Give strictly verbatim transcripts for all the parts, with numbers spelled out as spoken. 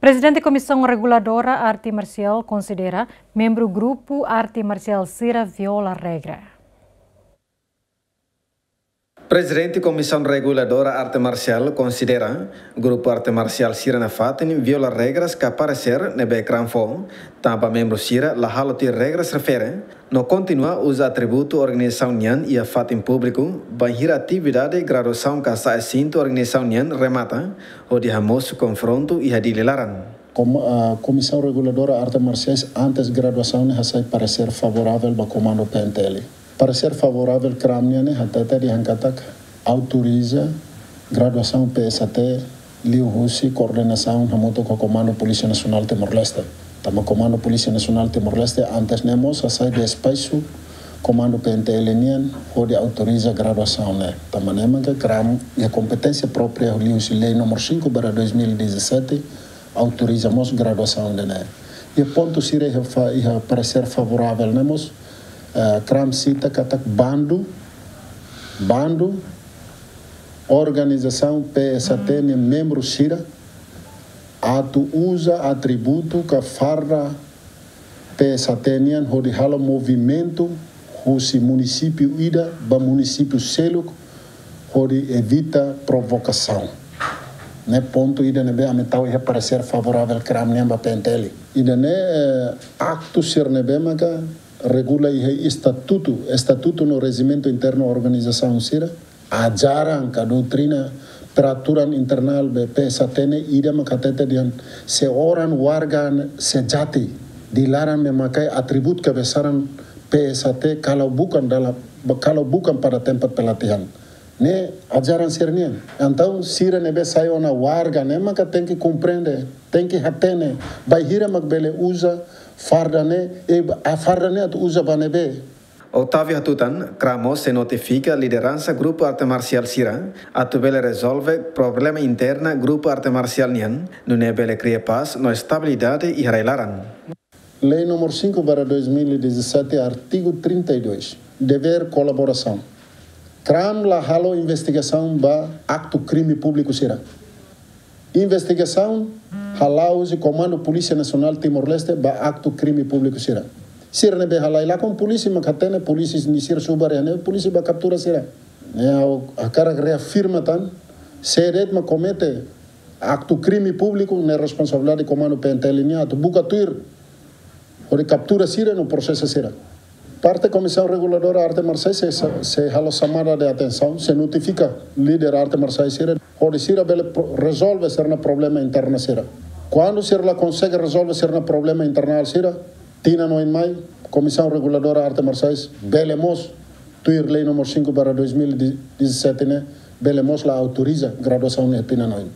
Prezidente Komisaun Reguladora Arte Marsiál konsidera membru grupu arte marsiál sira viola regra. Prezidente Komisaun Reguladora Arte Marsiál konsidera grupu arte marsiál sira nafatin viola regras ka paresér ne'ebé KRAM fó, tanba membru sira la halo tuir regras refere, no kontinua uza atributu organizasaun nian iha fatin públiku, bainhira atividade graduasaun ka sa'e sintu organizasaun nian remata, hodi hamosu konfrontu iha Dili laran. Kom-, ah, Komisaun Reguladora Arte Marsiais antes graduasaun ne'e hasai paresér favoravel ba Komandu P N T L. Paresér favoravel KRAM nian ne'e hatete dehan katak autoriza graduasaun P S A T liuhusi koordenasaun hamutuk ho Komandu Polísia Nasionál Timor-Leste. Tanba Komandu Polísia Nasionál Timor-Leste antes ne'e mós hasai despaisu Komandu P N T L nian hodi autoriza graduasaun ne'e. Tanba ne'e maka KRAM iha kompeténsia própria liuhusi Lei número cinco barra dois mil e dezassete autoriza mós graduasaun ida-ne'e. Iha pontu sira iha fa-, iha paresér favoravel ne'e mós, eh, KRAM sita katak bandu, bandu, organizasaun P S A T nia membru sira atu uza atributu ka farda P S A T nian hodi halo movimentu husi munisípiu ida ba munisípiu seluk hodi evita provokasaun. Ne'e pontu ida ne'ebé ami tau iha paresér favoravel KRAM nian ba P N T L. Ida-ne'e, eh, aktu sira ne'ebé maka regula iha estatutu, estatutu no rejimentu internu organizasaun sira, ajaran ka doutrina peraturan internal be P S A T ne'e ida maka hatete dehan se orang warga sejati Dili laran mak maka atributu kebesaran P S A T kalau bukan dalam, kalau bukan pada tempat pelatihan. Ne'e ajaran sira-nian. Entaun sira ne'ebé sai ona warga ne'e maka tenke komprende, tenke hatene, bainhira mak bele uza farda ne'e, e, a farda ne'e atu uza ba ne'ebé. Otávio hatutan, KRAM mós sei notifika lideransa grupu arte marsiál sira atu bele rezolve problema interna grupu arte marsiál nian, nune'e bele kria pás no estabilidade iha rai laran. Lei número cinco barra dois mil e dezassete, artigo trinta e dois. Dever kolaborasaun. KRAM la halo investigasaun ba aktu krime públiku sira. Investigasaun hala'o husi Komandu Polísia Nasionál Timor-Leste ba aktu krime públiku sira. Sira ne'ebé halai lakon polísia mak hatene, polísia nia sira subar iha ne'e, polísia bá kaptura sira. Ne'e ha'u hakarak reafirma tan, sé de'it mak komete aktu krime públiku ne'e responsabilidade Komandu P N T L nian atu buka tuir hodi kaptura sira no prosesa sira. Parte Komisaun Reguladora Arte Marsiais sei, sei halo chamada de atensaun, sei notifika líder arte marsiais sira, hodi sira bele pro-, rezolve sira-nia problema interna sira. Kuandu sira la konsege rezolve sira-nia problema internal sira, tinan oin mai, Komisaun Reguladora Arte Marsiais bele mós, tuir Lei número cinco barra dois mil e dezassete ne'e, bele mós la autoriza graduasaun ne'e tinan oin.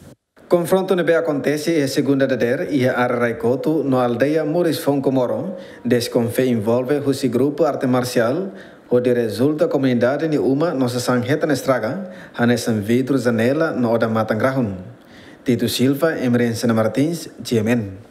Konfrontu ne'ebé akontese iha segunda dadeer iha área Raikotu no aldeia Moris Fonkomoro, deskonfia envolve husi grupu arte marsiál, hodi rezulta komunidade nia uma no sasán hetan estraga, hanesan vidru janela no odamatan grahun. Tito Silva, Emerenciana Martins, G M N.